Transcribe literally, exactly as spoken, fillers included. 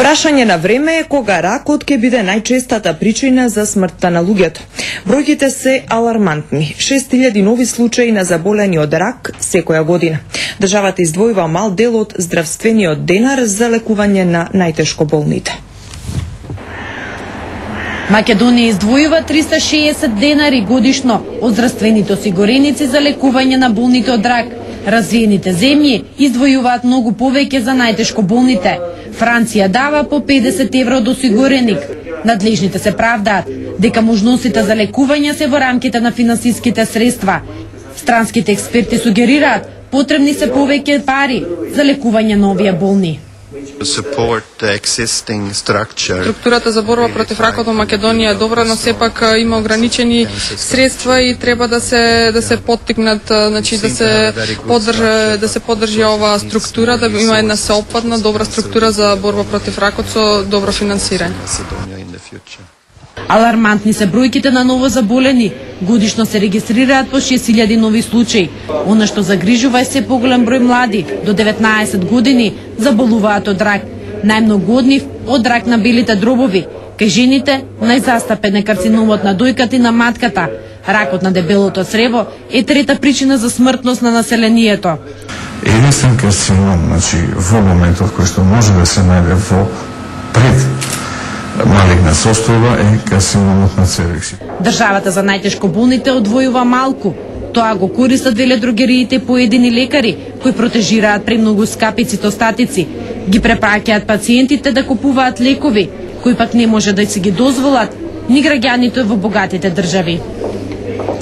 Прашање на време е кога ракот ќе биде најчестата причина за смртта на луѓето. Бројките се алармантни. шест илјади нови случаи на заболени од рак секоја година. Државата издвојува мал дел од здравствениот денар за лекување на најтешко болните. Македонија издвојува триста и шеесет денари годишно од здравствените осигуреници за лекување на болните од рак. Развиените земји издвојуваат многу повеќе за најтешко болните. Франција дава по педесет евро од осигуреник. Надлежните се правдаат дека можностите за лекување се во рамките на финансиските средства. Странските експерти сугерираат потребни се повеќе пари за лекување на овие болни. Структурата за борба против ракот во Македонија е добра, но сепак има ограничени средства и треба да се да се поттикнат, значи да се поддржи да се поддржи оваа структура, да има една сеопфатна добра структура за борба против ракот со добро финансирање. Алармантни се бројките на ново заболени. Годишно се регистрираат по шест илјади нови случаи. Она што загрижува е се поголем број млади до деветнаесет години заболуваат од рак. Најмногу од нив од рак на белите дробови. Кај жените најзастапен е карциномот на дојката и на матката. Ракот на дебелото црево е трета причина за смртност на населението. Единствен карцином, значи во моментот кој што може да се најде во пред малигна состојба е карциномот на цевексит. Државата за најтешко болните одвојува малку. Тоа го користат веледрогериите поедини лекари кои протежираат премногу скапи цитостатици. Ги препраќаат пациентите да купуваат лекови кои пак не може да се ги дозволат ни граѓаните во богатите држави.